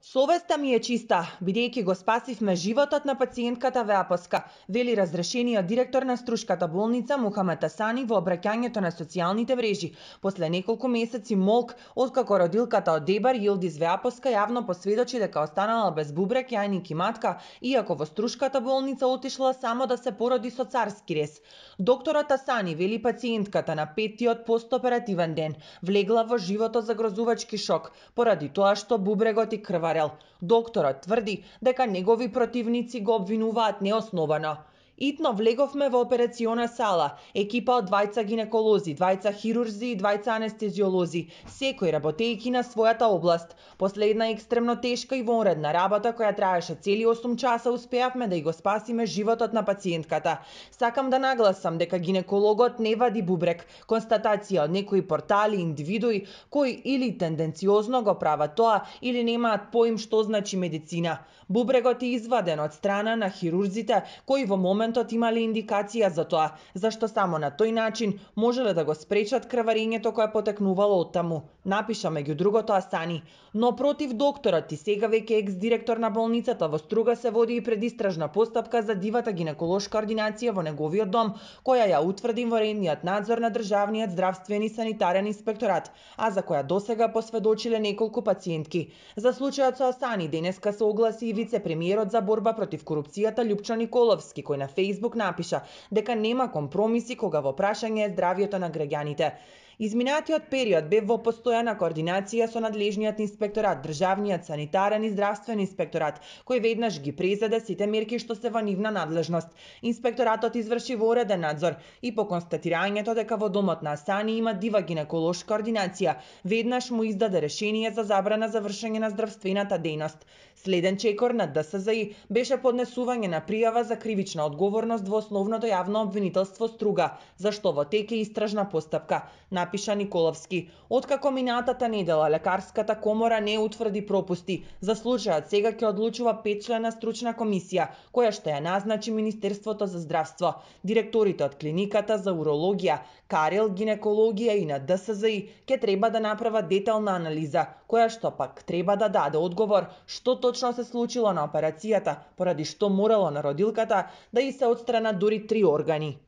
Совеста ми е чиста, бидејќи го спасивме животот на пациентката во Апоска, вели разрешениот директор на Струшката болница Мухамед Асани во обраќањето на социјалните мрежи, после неколку месеци молк откако родилката од Дебар Јилдиз во Апоска јавно посведочи дека останала без бубрек, јајник и матка, иако во Струшката болница отишла само да се породи со царски рез. Докторот Асани вели пациентката на 5-тиот постоперативен ден влегла во животозагрозувачки шок поради тоа што бубрегот и крварел. Докторот тврди дека негови противници го обвинуваат неосновано. Итно влеговме во операциона сала, екипа од двајца гинеколози, двајца хирурзи и двајца анестезиолози, секој работејќи на својата област. После една екстремно тешка и вонредна работа која траеше цели 8 часа, успеавме да ја го спасиме животот на пациентката. Сакам да нагласам дека гинекологот не вади бубрек, констатација од некои портали и индивидуи кои или тенденциозно го прават тоа или немаат поим што значи медицина. Бубрегот е изваден од страна на хирурзите кои во моментот имале индикација за тоа, зашто само на тој начин можеле да го спречат крварењето кое потекнувало оттаму, напиша меѓу другото Асани. Но против докторот и сега веќе екс-директор на болницата во Струга се води и предистражна постапка за дивата гинеколошка ординација во неговиот дом, која ја утврди воредниот надзор на државниот здравствен и санитарен инспекторат, а за која досега посведочиле неколку пациентки. За случајот со Асани денеска се огласи и вице-премиерот за борба против корупцијата Љупчо Николовски, кој на Facebook напиша дека нема компромиси кога во прашање е здравјето на граѓаните. Изминатиот период бе во постојана координација со надлежниот инспекторат, државниот санитарен и здравствен инспекторат, кој веднаш ги презеде сите мерки што се во нивна надлежност. Инспекторатот изврши вореден надзор и по констатирањето дека во домот на Асани има дива гинеколошка ординација, веднаш му издаде решение за забрана за вршење на здравствената дејност. Следен чекор на ДСЗИ беше поднесување на пријава за кривична одговорност во основното јавно обвинителство Струга, зашто во тек е истражна постапка, напиша Николовски. Откако минатата недела лекарската комора не утврди пропусти, за случајот сега ќе одлучува 5-члена стручна комисија, која што ја назначи Министерството за здравство. Директорите од клиниката за урологија, карел, гинекологија и на ДСЗИ ќе треба да направат детална анализа, која што пак треба да даде одговор што точно се случило на операцијата, поради што морало на родилката да и се отстранат дури 3 органи.